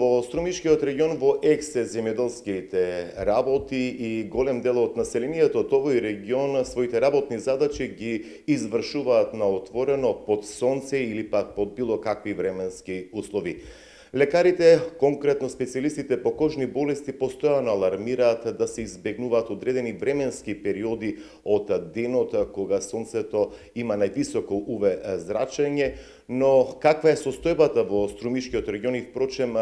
Во Струмишкиот регион во ексе земјоделските работи и голем дел од населението од овој регион своите работни задачи ги извршуваат на отворено, под сонце или пак под било какви временски услови. Лекарите, конкретно специјалистите по кожни болести, постојано алармираат да се избегнуваат одредени временски периоди од денот кога сонцето има највисоко УВ зрачење, но каква е состојбата во Струмишкиот регион и впрочем,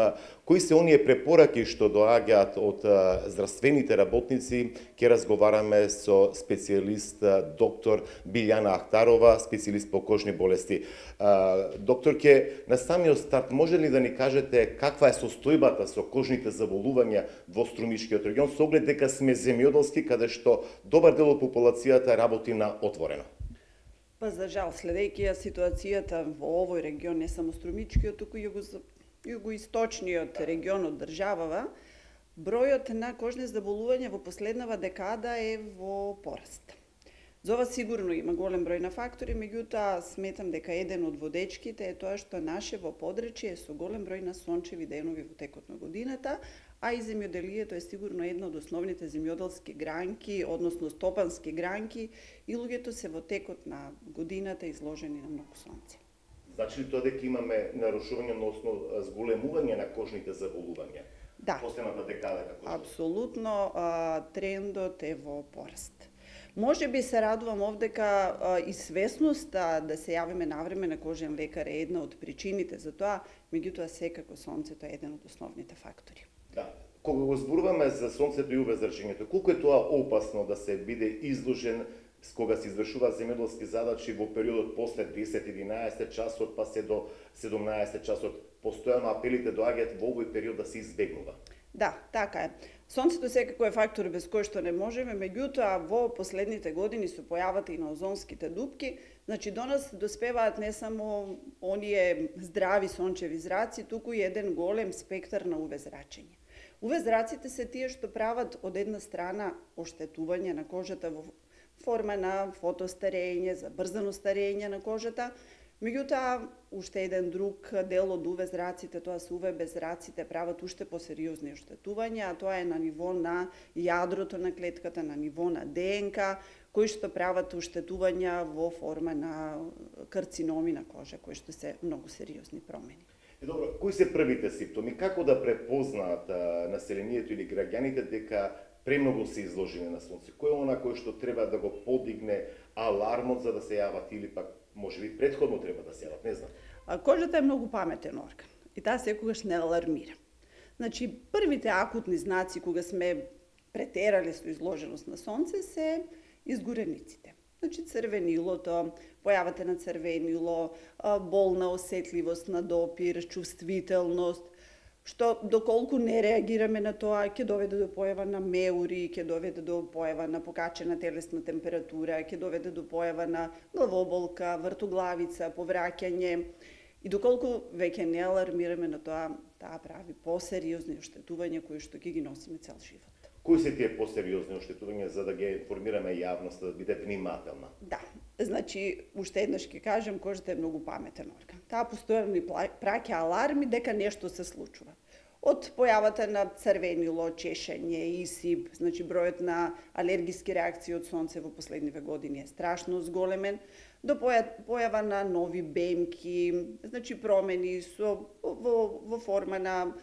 кои се оние препораки што доаѓаат од здравствените работници, ќе разговараме со специјалист доктор Билјана Ахтарова, специјалист по кожни болести. Докторке, на самиот старт може ли да ни кажете каква е состојбата со кожните заболувања во Струмишкиот регион, со оглед дека сме земјоделски, каде што добар дел од популацијата работи на отворено? Па за жал, следејќи ја ситуацијата во овој регион, не само Струмичкиот, туку југоисточниот регион од државава, бројот на кожни заболувања во последнава декада е во пораст. За ова сигурно има голем број на фактори, меѓутоа сметам дека еден од водечките е тоа што наше во подречје е со голем број на сончеви денови во текот на годината, а и земјоделието е сигурно една од основните земјоделски гранки, односно стопански гранки, и луѓето се во текот на годината изложени на многу сонце. Значи ли тоа дека имаме нарушување, односно зголемување на кожните заболувања? Да. Последната декада како што? Апсолутно, трендот е во пораст. Може би се радувам овдека и свесноста да се јавиме навреме на кожен лекар е една од причините за тоа, меѓутоа секако сонцето е еден од основните фактори. Да. Кога го зборуваме за сонцето и УВ зрачењето, колку е тоа опасно да се биде изложен кога се извршуваат земјоделски задачи во периодот после 10-11 часот па се до 17 часот? Постојано апелите доаѓаат во овој период да се избегнува. Да, така е. Сонцето секако е фактор без кој што не можеме, меѓутоа во последните години со појавата и на озонските дупки, значи до нас доспеваат не само оние здрави сончеви зраци, туку и еден голем спектар на УВ зрачење. УВ зраците се тие што прават од една страна оштетување на кожата во форма на фотостарење, забрзано старење на кожата, меѓутоа уште еден друг дел од УВ зраците, тоа се УВ беззраците, прават уште посериозни оштетувања, а тоа е на ниво на јадрото на клетката, на ниво на ДНК, кои што прават оштетувања во форма на карциноми на кожа, кои што се многу сериозни промени. Добро, кои се првите симптоми? Како да препознаат населението или граѓаните дека премногу се изложени на сонце? Кој е она кој што треба да го подигне алармот за да се јават или пак можеби претходно треба да се јават, не знам. Кожата е многу паметен орган и таа секогаш не алармира. Значи, првите акутни знаци кога сме претерали со изложеност на сонце се изгорениците. Значи, црвенилото, појавата на црвенило, болна осетливост на допир, чувствителност, што доколку не реагираме на тоа, ќе доведе до појава на меури, ќе доведе до појава на покачена телесна температура, ќе доведе до појава на главоболка, вртоглавица, повраќање. И доколку веќе не алармираме на тоа, таа прави посериозни оштетувања кои што ќе ги носиме цел живот. Кои се тие посериозни оштетувања за да ги информираме јавноста да биде внимателна? Да, значи, уште еднаш ќе кажем, кожата е многу паметен орган. Таа постојано ни праќа аларми дека нешто се случува. Од појавата на црвенило, чешење, исип, значи бројот на алергиски реакции од сонце во последниве години е страшно зголемен, до појава на нови бемки, значи промени во форма на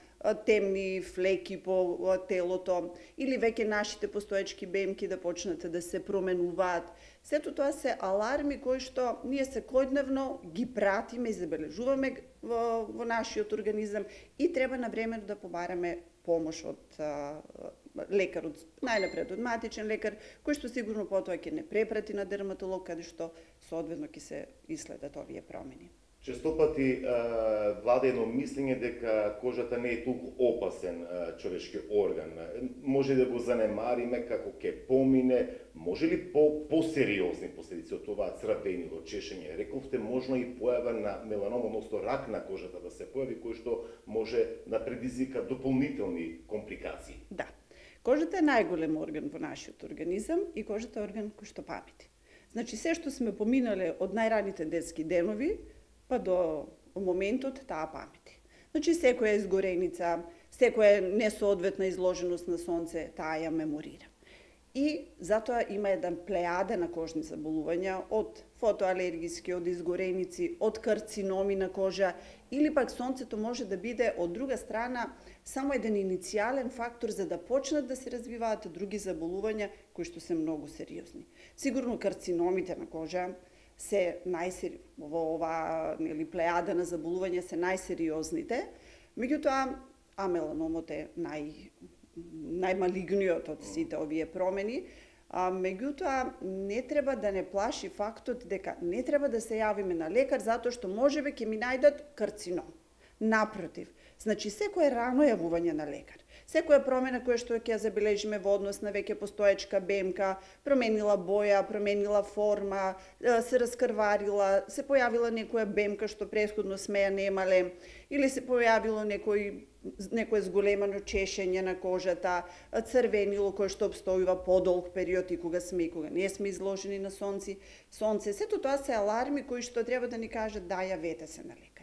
темни флеки по телото, или веќе нашите постоечки бемки да почнат да се променуваат. Сето тоа се аларми кои што ние секојдневно ги пратиме и забележуваме во нашиот организам и треба на време да побараме помош од лекар, најнапред од матичен лекар, кој што сигурно потоа ќе не препрати на дерматолог, каде што соодветно ќе се исследат овие промени. Често пати владе едно мислење дека кожата не е толку опасен човечки орган. Може да го занемариме како ќе помине, може ли посериозни последици од това црвенило, чешење? Рековте можно и појава на меланом, односно рак на кожата да се појави, кој што може да предизвика дополнителни компликации. Да. Кожата е најголем орган во нашиот организам и кожата е орган кој што памети. Значи, се што сме поминале од најраните детски денови, па до моментот таа памети. Значи, секоја изгореница, секоја несоодветна изложеност на сонце, таа ја меморира. И затоа има еден плејаде на кожни заболувања, од фотоалергиски, од изгореници, од карциноми на кожа, или пак сонцето може да биде, од друга страна, само еден иницијален фактор за да почнат да се развиваат други заболувања кои што се многу сериозни. Сигурно карциномите на кожа се во ова плејада на заболувања се најсериозните, меѓутоа амеланомот е најмалигниот од сите овие промени, меѓутоа не треба да не плаши фактот дека не треба да се јавиме на лекар затоа што можеби ќе ми најдат карцином. Напротив, значи секое рано јавување на лекар, секоја промена која што ќе ја забележиме во однос на веќе постоечка бемка, променила боја, променила форма, се раскрварила, се појавила некоја бемка што претходно сме ја немале, или се појавило некое зголемано чешење на кожата, црвенило кое што обстојува подолг период и кога сме и кога не сме изложени на сонце, сето тоа се аларми кои што треба да ни кажат да јавете се на лекар.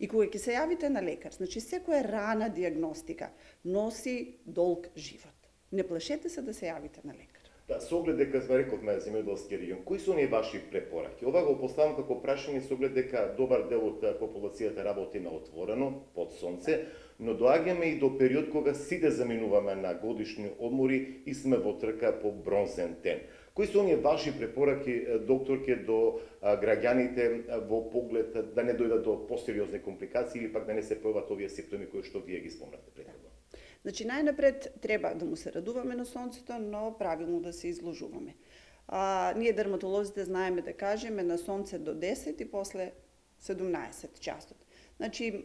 И кога ќе се јавите на лекар, значи секоја рана диагностика носи долг живот. Не плашете се да се јавите на лекар. Да, со оглед дека рековме земјоделски регион, кои се оние ваши препораки? Ова го поставам како прашање со оглед дека добар дел од популацијата работи на отворено, под сонце, но доаѓаме и до период кога сите заминуваме на годишни одмори и сме во трка по бронзен ден. Кои се оние ваши препораки, докторке, до граѓаните во поглед да не дојдат до посериозни компликации или пак да не се појават овие симптоми кои што вие ги спомнате претходно? Значи, најнапред треба да му се радуваме на сонцето, но правилно да се изложуваме. Ние дерматолозите знаеме да кажеме на сонце до 10 и после 17 часот. Значи,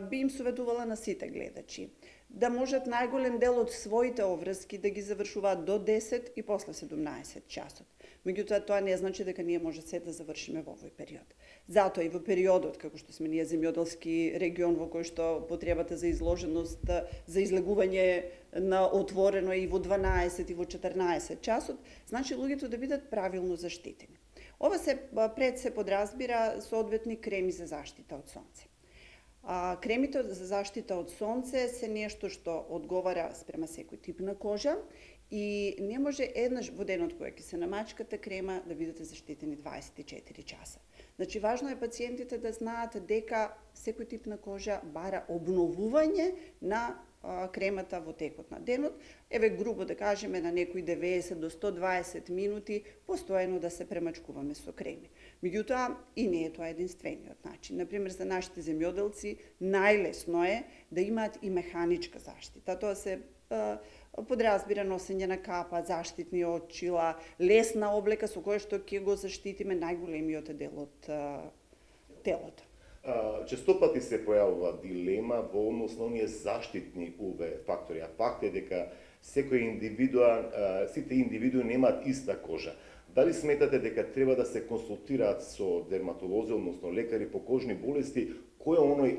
би им советувала на сите гледачи да можат најголем дел од своите обврски да ги завршуваат до 10 и после 17 часот. Меѓутоа, тоа не значи дека ние може се да завршиме во овој период. Затоа и во периодот, како што сме ние земјоделски регион во кој што потребата за изложеност, за излегување на отворено и во 12 и во 14 часот, значи луѓето да бидат правилно заштитени. Ова се подразбира соодветни креми за заштита од сонце. Кремите за заштита од сонце се нешто што одговара спрема секој тип на кожа и не може еднаш во денот кога ќе се намачкате крема да бидете заштитени 24 часа. Значи, важно е пациентите да знаат дека секој тип на кожа бара обновување на кремата во текот на денот, еве грубо да кажеме на некои 90 до 120 минути постојано да се премачкуваме со креми. Меѓутоа, и не е тоа единствениот начин. Например, за нашите земјоделци најлесно е да имаат и механичка заштита. Тоа се подразбира носење на капа, заштитни очила, лесна облека со која што ќе го заштитиме најголемиот дел од телото. Честопати се појавува дилема во однос на оние заштитни UV фактори, а факт е дека секој индивидуа, сите индивидуи немаат иста кожа. Дали сметате дека треба да се консултираат со дерматолози, односно лекари по кожни болести, кој е оној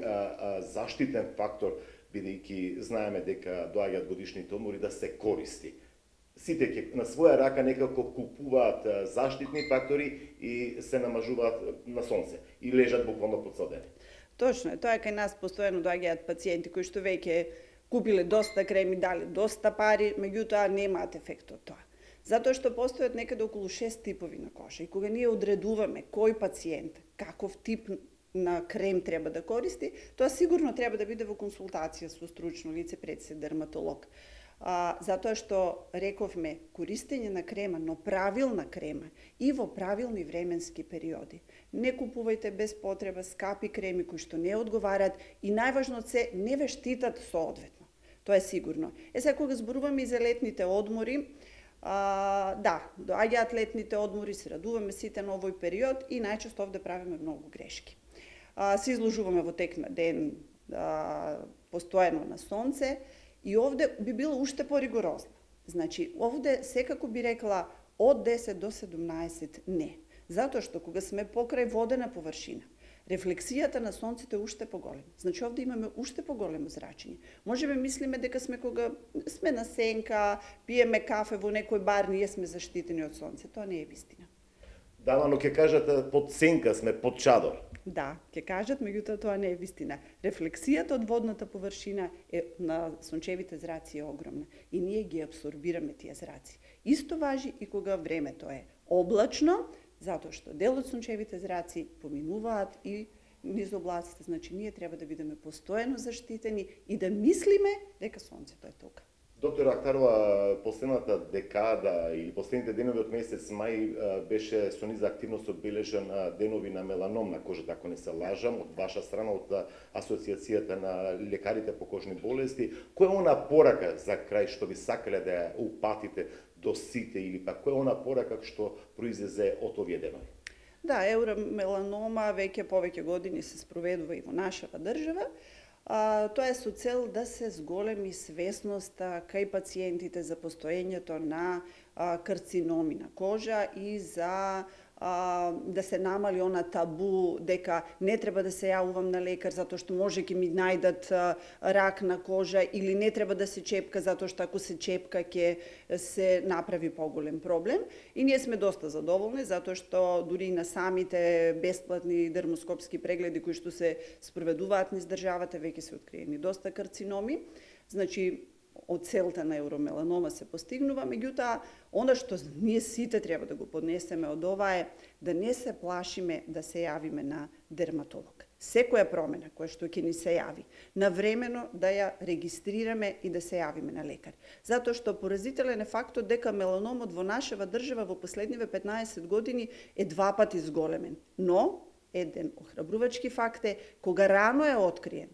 заштитен фактор, бидејќи знаеме дека доаѓаат годишните одмори, да се користи? Сите ќе на своја рака некако купуваат заштитни фактори и се намажуваат на сонце и лежат буквално под цел ден. Точно е, тоа е кај нас постојано доаѓаат пациенти кои што веќе купиле доста креми, дали доста пари, меѓутоа немаат ефект од тоа. Затоа што постојат некаде околу 6 типови на кожа и кога ние одредуваме кој пациент, каков тип на крем треба да користи, тоа сигурно треба да биде во консултација со стручно лице пред се дерматолог. Затоа што рековме користење на крема, но правилна крема и во правилни временски периоди. Не купувајте без потреба скапи креми кои што не одговараат и најважно се не ве штитат соодветно. Тоа е сигурно. Сега кога зборуваме и за летните одмори, да, доаѓаат летните одмори, се радуваме сите на овој период и најчесто овде правиме многу грешки. Се изложуваме во тек на ден постојано на сонце, и овде би било уште поригорозно. Значи, овде секако би рекла од 10 до 17 не. Затоа што кога сме покрај водена површина, рефлексијата на сонцето е уште поголема. Значи, овде имаме уште поголемо зрачење. Можеме мислиме дека сме кога сме на сенка, пиеме кафе во некој бар, ние сме заштитени од сонце. Тоа не е вистина. Да, но ќе кажат под сенка сме, под чадор. Да, ќе кажат, меѓутоа тоа не е вистина. Рефлексијата од водната површина на сончевите зраци е огромна и ние ги абсорбираме тие зраци. Исто важи и кога времето е облачно, затоа што дел од сончевите зраци поминуваат и низ облаците, значи ние треба да бидеме постојано заштитени и да мислиме дека сонцето е тука. Доктор Ахтарова, последната декада или последните денови од месец мај беше со низа активност одбележан денови на меланом на кожата, ако не се лажам, од ваша страна, од Асоциацијата на лекарите по кожни болести. Која е она порака за крај што ви сакале да ја упатите до сите или пак која е она порака што произлезе од овие денови? Да, евромеланома веќе повеќе години се спроведува и во нашава држава. Тоа е со цел да се зголеми свесноста кај пациентите за постоењето на карциноми на кожа и за да се намали она табу дека не треба да се јавувам на лекар затоа што може ќе ми најдат рак на кожа или не треба да се чепка затоа што ако се чепка ќе се направи поголем проблем. И ние сме доста задоволни затоа што дури и на самите бесплатни дермоскопски прегледи кои што се спроведуваат низ државата веќе се откриени доста карциноми. Значи од целта на евромеланома се постигнува, меѓутоа, она што ние сите треба да го поднесеме од ова е да не се плашиме да се јавиме на дерматолог. Секоја промена која што ќе ни се јави, навремено да ја регистрираме и да се јавиме на лекар. Затоа што поразителен е фактот дека меланомот во нашава држава во последниве 15 години е 2 пати зголемен. Но, еден охрабрувачки факт е, кога рано е откриен,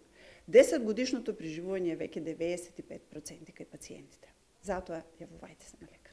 10 годишното преживување е веќе 95% кај пациентите. Затоа јавувајте се на лекар.